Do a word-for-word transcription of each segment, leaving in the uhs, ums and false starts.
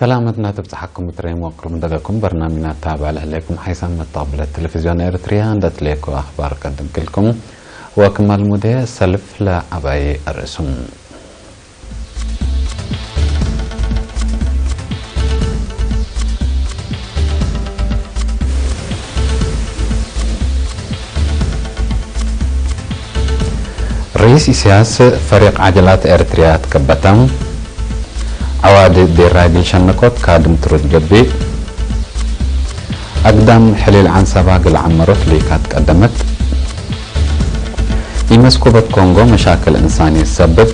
ሰላመትና ትብጽሐኩም እትሬም ወቅሩብ ደገኩም በርናምጅና ታብዕ ለህሌኩም ሓይሳም መተቅብለት ቴሌቪዝዮን ኤርትርያ እንደ ትሌኮ አኽባር ቀድም ክልኩም ወክማል ሙዴ ሰልፍ ለአባይ አርእሱም። ርኢስ ኢሳያስ ፈሪቅ ዐጀላት ኤረትርያ ትከበተ። ዐዋዲ ዴራይ እግል ሸነኮት ካድም ትሩድ ገብእ። አግዳም ሕሊል ዐንሰባ እግል ዐመሮት ሊካት ቀደመት። ኢመስኩበት ኮንጎ መሻክል እንሳንየት ሰብብ።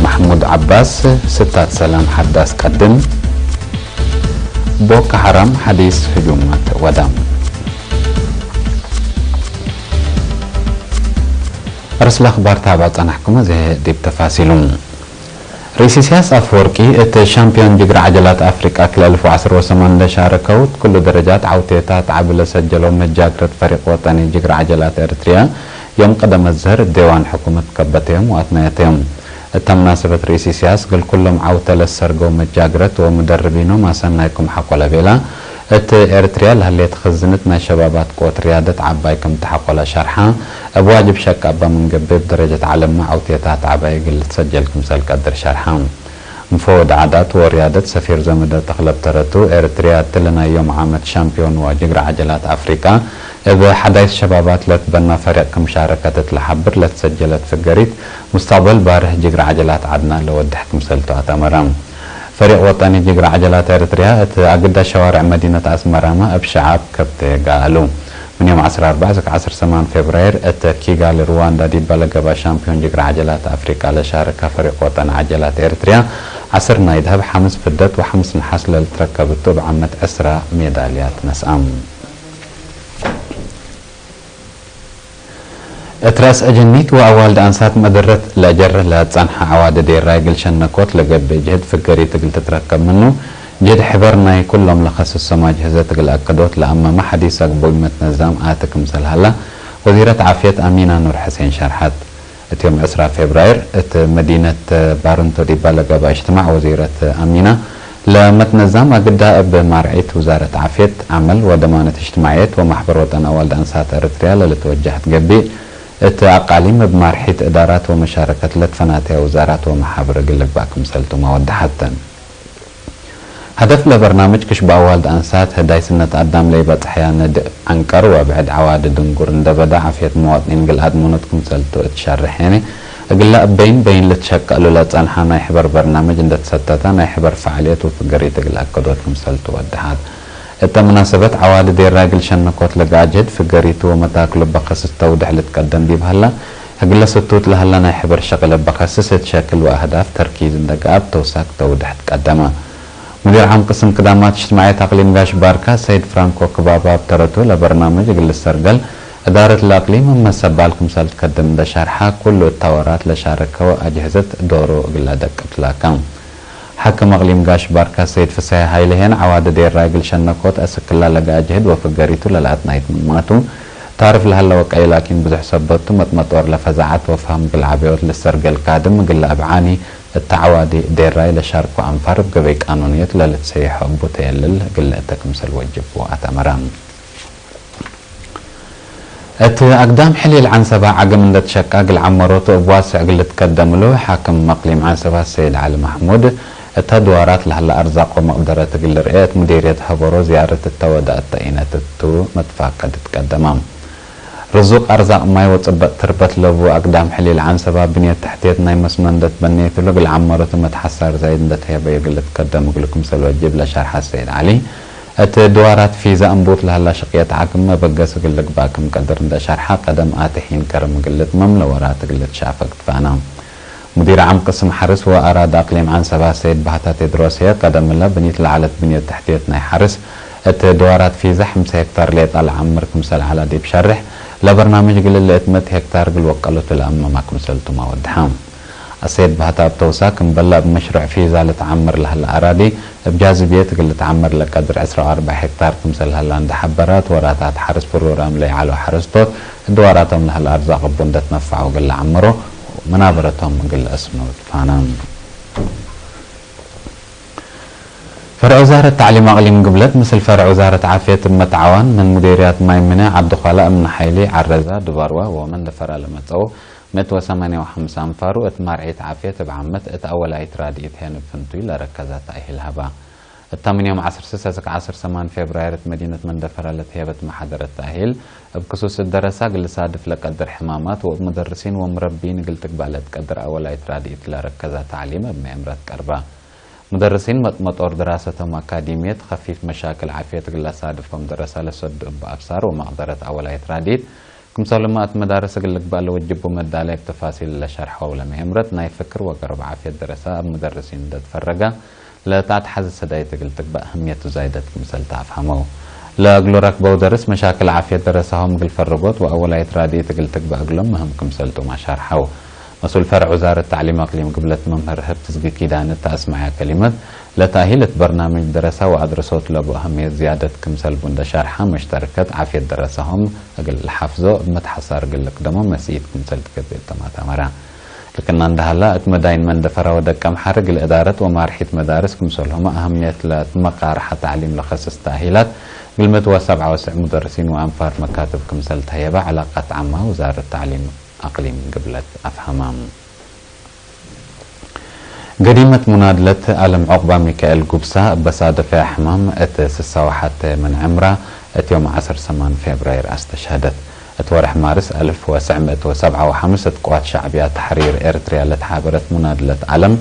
መሕሙድ ዐባስ ስታት ሰላም ሐዳስ ቀድም። ቦኮ ሐራም ሐዲስ ህጁማት ወዳ። አርእስ ለአኽባር ታብዕ ጸናሕኩም፣ እዜ ዲብ ተፋሲሉ። ርኢስ ኢሳያስ አፈወርቂ፣ እት ሻምፒዮን ጅግረ ዐጀላት አፍሪቃ ክልኤ አልፍ ወዐስር ወሰማን ለሻረከው እት ኩሉ ደረጃት ዐውቴታት ዐቢ ለሰጀለው መጃግረት ፈሪቅ ወጠኒ ጅግረ ዐጀላት ኤረትርያ፣ ዮም ቀደመት ዘህር እት ዴዋን ሕኩመት ከበተዮም ወአትናየተዮም። እተ መናሰበት ርኢስ ኢሳያስ፣ እግል ኩሎም ዐውተ ለሰርገው መጃግረት ወምደርቢኖም አሰናይኩም ሐቆ ለቤላ፣ እት ኤረትርያ ለህሌት ክዝንት ናይ ሸባባት ቅወት ርያደት ዐባይ ክምተ ሐቆ ለሸርሐ፣ እብ ዋጅብ ሸቅ አባ ምን ገብእ፣ እብ ደረጀት ዐለምመ ዐውቴታት ዐባይ እግል ልትሰጀል ክምሰል ቀድር ሸርሐ። እንፎ ወድ ዓዳት ወርያደት ሰፊር ዘመደ ተኽለ ብተረቱ፣ ኤረትርያ እትሊ ናይ ዮም ዓመት ሻምፒዮን ወጅግረ ዐጀላት አፍሪቃ፣ እብ ሐዳይስ ሸባባት ለትበና ፈሪቅ ክም ሻረከት እት ለሐብር ለትሰጀለት ፍገሪት፣ ሙስተቅበል ባርህ ጅግረ ዐጀላት ዐድና ለወድሕ ክምሰልቱ አተመረ። ፈሪቅ ወጠኒ ጅግረ ዐጀላት ኤረትርያ፣ እት አግዳ ሸዋርዕ መዲነት አስመራመ እብ ሸዓብ ከብቴ ገአሉ። ምን ዮም ዐስር አርበዕ እስክ ዐስር ሰማን ፌብራይር፣ እት ኪጋሊ ሩዋንዳ ዲባ ለገብአ ሻምፒዮን ጅግረ ዐጀላት አፍሪቃ ለሻረከ ፈሪቅ ወጠኒ ዐጀላት ኤረትርያ፣ ዐስር ናይ ደሀብ፣ ሐምስ ፍደት ወሐምስ ነሐስ ለልትረከብ እቱ፣ እብ ዓመት ዕስራ ሜዳልያት ነስአ። እት ረአስ አጀኒት ወአዋልድ አንሳት መደረት ለአጀርህ ለጸንሐ ዐዋዲ ዴራይ እግል ሸነኮት ለገብእ ጅህድ ፍገሪት እግል ትትረከብ ምኑ፣ ጅህድ ሕበር ናይ ኩሎም ለከስሶም አጅህዘት እግል አከዶት ለአመመ ሐዲስ አግቡይ መትነዛም አቲ ክምሰል ሀላ፣ ወዚረት ዓፍየት አሚና ኑር ሕሴን ሸርሐት። እት ዮም ዕስራ ፌብራይር፣ እት መዲነት ባርንቶ ዲባ ለገብአ እጅትማዕ ወዚረት አሚና፣ ለመትነዛም አግዳ እብ ማርዒት ውዛረት ዓፍየት፣ ዐመል ወደማነት እጅትማዕየት ወማሕበር ወጠን አዋልድ አንሳት ኤረትርያ ለልትወጀህ ትገብእ፣ እት አቃሊም እብ ማርሒት እዳራት ወመሻረከት ለትፈናተየ ውዛራት ወመሓብር እግል ልግባእ ክምሰልቱመ ወደሐት። ሀደፍ ለበርናምጅ ክሽብ አዋልድ አንሳት ህዳይ ስነት አዳም ለኢበጽሐያ ነድእ ዐንቀር ወብዕድ ዐዋዲ ድንጉር እንደ በዳ ዓፍየት መዋጥኒን እግል አድመኖት ክምሰልቱ እት ሸርሕ ሄኔ፣ እግለ እበይን በይን ልትሸቀሉ ለጸንሐ ናይ ሕበር በርናምጅ እንደ ትሰተተ፣ ናይ ሕበር ፈዓልየት ወፍገሪት እግል አከዶት ክምሰልቱ ወደሐት። እተ መናሰበት ዐዋዲ ዴራይ እግል ሸነኮት ለገአ ጅህድ ፍገሪቱ ወመታክሉ በከስስ ተውድሕ ልትቀደም ዲብ ሀላ፣ እግለ ስቱት ለሀላ ናይ ሕበር ሸቅል እበ ከስስ እት ሸክል ወአህዳፍ ተርኪዝ እንደ ገአብ ተውሳክ ተውድሕ ትቀደመ። ሙዲር ዓም ቅስም ክዳማት እጅትማዕየት አቅሊም ጋሽ ባርካ ሰይድ ፍራንኮ ክባባ እብ ተረቱ፣ ለበርናምጅ እግል ልሰርገል እዳረት ለአቅሊም እብ መሰባል ክምሰል ትከድም እንደ ሸርሐ፣ ኩሉ እተ ወራት ለሻረከው አጅህዘት ዶሩ እግል ለአደቅብ ትላከ። ሓክም አቅሊም ጋሽ ባርካ ሰይድ ፍሰሐ ሀይለ ሄን፣ ዐዋዲ ዴራይ እግል ሸነኮት አስክላ ለገአ ጅህድ ወፍገሪቱ ለለአትናይት ምንማቱ፣ ታርፍ ለሀለ ወቀይ ላኪን ብዙሕ ሰበት ቱ፣ መጥመጦር ለፈዛዐት ወፈህም እግል ዐበዮት ልሰርገል ካድም እግለ አብዓኒ፣ እተ ዐዋዲ ዴራይ ለሻርኮ አንፋር እብ ገበይ ቃኑንየት ለልትሰየሖ እቡ ተየልል እግል ልእተ ክምሰል ወጅቡ አተመረ። እት አግዳም ሕሊል ዐንሰባ ዐግም እንደ ትሸቃ እግል ዐመሮቱ እብ ዋስዕ እግል ልትቀደም እሉ፣ ሓክም መቅሊም ዐንሰባ ሰይድ ዐሊ መሕሙድ፣ እተ ድዋራት ለሀለ አርዛቅ ወመቅደረት እግል ልርኤ እት ሙዲርየት ሀበሮ ዝያረት እተ ወደ እተ ኢነት እቱ መትፋቀድ ትቀደመ። ርዙቅ አርዛቅ ማይ ወጽበጥ ትርበት ለቡ አግዳም ሕሊል ዐንሰባ ብንየት ተሕትየት ናይ መስኖ እንደ ትበኔት እሉ እግል ዐመሮቱ መትሐሳር ዛይድ እንደ ተሄበዩ እግል ልትቀደም እግሉ ክምሰል ወጅብ ለሸርሐ ሰይድ ዐሊ፣ እት ድዋራት ፊዛ እንቡት ለሀላ ሽቅየት ዐግም መበገስ እግል ልግባእ ክም ቀድር እንደ ሸርሐ፣ ቀደም አቲ ሒን ከርም እግል ልትመም ለወራት እግል ልትሻፈግ ትፋና። ሙዲር ዓም ቅስም ሐርስ ወአራድ አቅሊም ዐንሰባ ሰይድ ባህታ ቴድሮስ ህዬ፣ ቀደም እለ ብኒት ለዐለት ብንየት ተሕትየት ናይ ሐርስ እት ድዋራት ፊዛ ሐምሳ ሄክታር ሌጣ ለዐምር ክምሰል ዐላ ዲብ ሸርሕ፣ ለበርናምጅ እግል ልእትመት ሄክታር እግል ወቀሎቱ ለአመማ ክምሰልቱመ ወድሐ። አሰይድ ባህታ እብ ተውሳክ፣ እምበለ እብ መሽሩዕ ፊዛ ልትዓመር ለሀለ አራዲ፣ እብ ጃዝብየት እግል ልትዓመር ለቀድር ዕስራ ወአርበዕ ሄክታር ክምሰል ሀላ እንደ ሐበረ፣ እት ወራታት ሐርስ ፕሮግራም ለይዐለው ሐረስቶት፣ እት ድዋራቶም ለሀለ አርዛቅ እቡ እንደ ትነፈዐው እግል ለዐምሮ፣ መናበረቶም እግል ለአስኑ ትፋነ። ፈርዕ ውዛረት ተዕሊም አቅሊም ግብለት ምስል ፈርዕ ውዛረት ዓፍየት እብ መትዓዋን ምን ሙዴርያት ማይ ምነ፣ ዐብዱኳላ እምነ ሓይሊ፣ ዐረዛ፣ ድባርዋ ወመንደፈራ ለመጸኡ ምእት ወሰማንያ ወሐምስ አንፋሩ እት ማርዒት ዓፍየት እብ ዓመት እት አወላይት ራድኢት ሄን እብ ፍንቱይ ለረከዘ ተእሂል ሀባ። እታ ምን ዮም ዐስር ስስ እስክ ዐስር ሰማን ፌብራይር እት መዲነት መንደፈራ ለትሄበት መሓደረት ተእሂል፣ እብ ክሱስ እት ደረሳ እግል ልሳድፍ ለቀድር ሕማማት ወእብ ሙደርሲን ወምረቢን እግል ትግባእ ለትቀድር አወላይት ራድኢት ለረከዘ ተዕሊም እብ መኤምረት ቀርበ። ሙደርሲን መጥ-፣ መጦር ድራሰቶም አካዲምየት፣ ከፊፍ መሻክል ዓፍየት እግል ለሳድፎም ደረሳ ለሰዱ እበ አብሳር ወመቅደረት አወላይት ራድኢት፣ ክምሰልሁመ እት መዳርስ እግል ልግባእ ለወጅቡ መዳላይ እብ ተፋሲል ለሸርሐው ለመኤምረት፣ ናይ ፍክር ወገርብ ዓፍየት ደረሳ እብ ሙደርሲን እንዴ ትፈረገ ለተአትሐዜ ሰዳይት እግል ትግባእ አህምየቱ ዛይደት ክምሰል ተአፍሀመው። ለእግሉ ረክበው ደርስ መሻክል ዓፍየት ደረሳሆም እግል ፈርጎት ወአወላይት ራድኢት እግል ትግባእ እግሎም ምህም ክምሰል ቱም አሻርሐው። መስኡል ፈርዕ ውዛረት ተዕሊም አቅሊም ግብለት መምህር ህብትዝጊ ኪዳነ እተ አስመዐያ ከሊመት፣ ለተእሂል እት በርናምጅ ደረሳ ወአድረሶት ለቡ አህምየት ዝያደት ክምሰል ቡ እንዴ ሻርሐ፣ መሽተረከት ዓፍየት ደረሳሆም እግል ለሓፍዞ እብ መትሐሳር እግል ልቅደሞ መስኢት ክምሰል ትገብእ ተም አተመረ። ልክና እንዴ ሀላ፣ እት መዳይን መንደፈራ ወደቀምሐር እግል እዳረት ወማርሒት መዳርስ ክምሰልሁመ አህምየት ለትመቃርሐ ተዕሊም ለከስስ ተእሂላት እግል ምእት ወሰብዓ ወሰዕ ሙደርሲን ወአንፋር መካትብ ክምሰል ተህየበ ዐላቀት ዓማ ውዛረት ተዕሊም አቅሊም ግብለት አፍሀመ። ገዲመት ሙናድለት አለም ዑቅባ ሚካኤል ጉብሳ እበ ሳደፈያ ሕማም እት ስሳ ወሐቴ ምን ዕምራ እት ዮም ዐስር ሰማን ፌብራይር አስተሽሀደት። እት ወርሕ ማርስ አልፍ ወትስዕ ምእት ወሰብዓ ወሐምስ እት ቅዋት ሸዕብያ ተሕሪር ኤረትርያ ለተሓበረት ሙናድለት አለም፣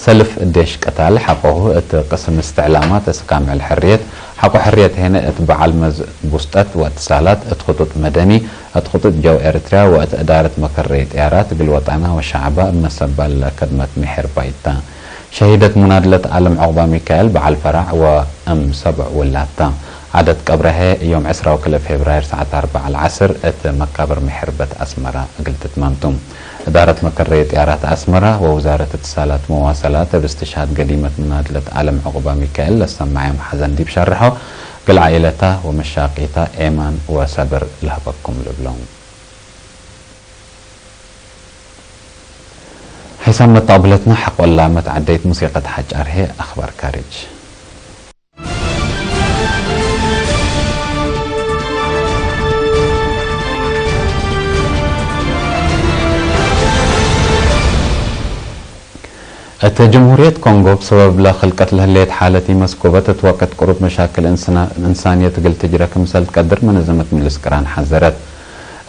ሰልፍ ዴሽ ቅታል ሐቆሁ እት ቅስም እስትዕላማት እስካም ዕል ሕርየት፣ ሐቆ ሕርየት ሄነ እት በዐል መዝ ቡስጠት ወእትሳላት እት ክጡጥ መደኒ፣ እት ክጡጥ ጀው ኤረትርያ ወእት እዳረት መከረይ ጥያራት እግል ወጠና ወሸዐባ እብ መሰባል ለከድመት ምሒር ባይት ተ። ሸሂደት ሙናድለት አለም ዑቅባ ሚካኤል በዐል ፈራዕ ወእም ሰብዕ ውላድ ተ። ዐደት ቀብረ ህዬ ዮም ዕስራ ወክልኤ ፌብራይር ሰዓት አርበዕ ለዐስር እት መቃብር ምሒር በት አስመረ እግል ትትመም ቱ። እዳረት መከረይ ጥያራት አስመረ ወውዛረት እትሳላት መዋሰላት እብ እስትሽሃድ ገዲመት ሙናድለት አለም ዑቅባ ሚካኤል ለሰመዐዮም ሐዘን ዲብ ሸርሖ፣ እግል ዓኢለታ ወመሻቂታ ኤማን ወሰብር ለህበኩም ልብሎም። ሐይሳም መተቅብለትና ሐቆላ መትዐደይት ሙሲቀት ሐጫር ህዬ አኽባር ካርጅ። እት ጅምሁርየት ኮንጎ፣ እብ ሰበብ ለክልቀት ለህሌት ሓለት ኢመስኮበት፣ እት ወቅት ቅሩብ መሻክል እንስና-፣ እንሳንየት እግል ትጅረ ክምሰል ትቀድር መነዘመት ምልስ ቅራን ሐዘረት።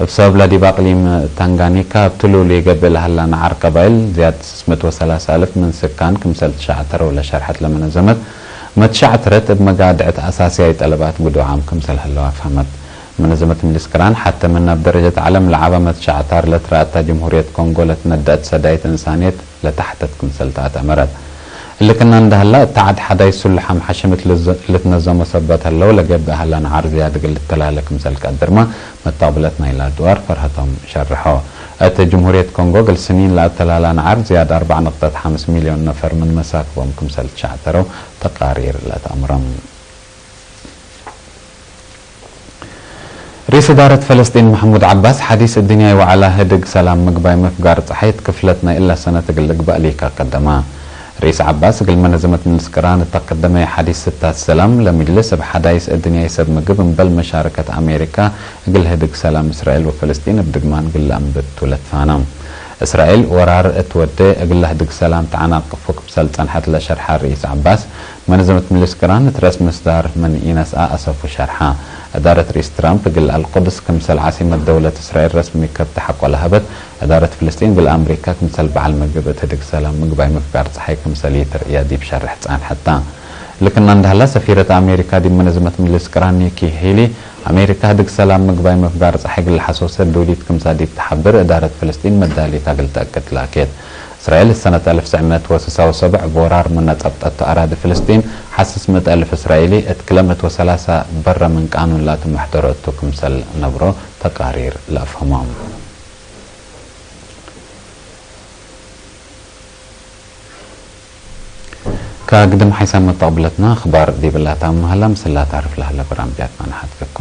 እብ ሰበብ ለዲብ አቅሊም ታንጋኒካ እብ ትሉሉ ኢገብእ ለሀላ ነዓር ቀባይል፣ ዝያድ ስስ ምእት ወሰላሰ አልፍ ምን ስካን ክምሰል ትሸዕተረው ለሸርሐት ለመነዘመት፣ መትሸዕትረት እብ መጋድዕት አሳስያይ ጠለባት ግዱዓም ክምሰል ህለው አፍሀመት። መነዘመት ምልስ ቅራን ሐተ ምን እብ ደረጀት ዐለም ለዐበ መትሸዕታር ለትረአታ ጅምሁርየት ኮንጎ ለትነደአት ሰዳይት እንሳንየት ለተሐተት ክምሰል ተአተመረት። እሊ ክና እንደ ሀላ፣ እት ዐድ ሐዳይስ ስሉሕ አምሐሽም እት ልዘ-፣ ልትነዘሞ ሰበት ህለው፣ ለገብእ ሀላ ነዓር ዝያድ እግል ልተላለ ክምሰል ቀድርመ፣ መተቅብለት ናይላ አድዋር ፈርሀቶም ሸርሖ። እት ጅምሁርየት ኮንጎ፣ እግል ስኒን ለአተላላ ነዓር ዝያድ አርበዕ ነቅጠት ሐምስ ሚልዮን ነፈር ምን መሳክቦም ክምሰል ትሸዕተረው ተቃሪር ለተአምሮም። ርኢስ እዳረት ፈለስጢን መሕሙድ ዐባስ፣ ሐዲስ እድንያይ ወዐላ ህድግ ሰላም ምግባይ መፍጋር ጸሓይ እት ክፍለት ናይ እለ ሰነት እግል ልግባእ ሊካ ቀደማ። ርኢስ ዐባስ እግል መነዘመት ምልስ ቅራን እት አቀደመየ ሐዲስ ስታት ሰላም ለምጅልስ፣ እብ ሐዳይስ እድንያይ ሰብ ምግብ እምበል መሻረከት አሜሪካ እግል ህድግ ሰላም እስራኤል ወፈለስጢን እብ ድግማን እግል ለአንብት ቱ ለትፋነ። እስራኤል ወራር እት ወዴ እግል ለህድግ ሰላም ተዐናቅፎ ክምሰል ጸንሐት ለሸርሐ ርኢስ ዐባስ፣ መነዘመት ምልስ ቅራን እት ረአስ ምስዳር ምን ኢነስአ አሰፉ ሸርሐ። እዳረት ርኢስ ትራምፕ እግል አልቁድስ ክምሰል ዓሲመት ደውለት እስራኤል ረስሚ ከብት ሐቆ ለሀበት፣ እዳረት ፍልስጢን እግል አምሪካ ክምሰል በዐል ምግብ እት ህድግ ሰላም ምግባይ መፍጋር ጸሓይ ክምሰል ኢትርእየ ዲብ ሸርሕ ጸንሐት ተ። እሊ ክና እንደ ሀላ፣ ሰፊረት አሜሪካ ዲብ መነዘመት ምልስ ቅራን ኒኪ ሄሊ፣ አሜሪካ ህድግ ሰላም ምግባይ መፍጋር ጸሓይ እግል ለሐሶሰ ዱሊት ክምሰል ዲብ ተሐብር፣ እዳረት ፍልስጢን መዳሊታ እግል ተአክድ ላኬት። እስራኤል ሰነት አልፍ ትስዕ ምእት ወስሳ ወሰብዕ እብ ወራር ምነ ጸብጠቱ አራዲ ፍልስጢን፣ ሐስስ ምእት አልፍ እስራኤሊ እት ክለ ምእት ወሰላሰ በረ ምን ቃኑን ላቱ መሕደሮ እቱ ክምሰል ነብሮ ተቃሪር ለአፍህሞም። ከግድም ሐይሳም መተቅብለትና አኽባር ዲብ ላታም መሀላ ምስላ ታርፍ ለሀለ በራምጅያት መናሐት ከኮ።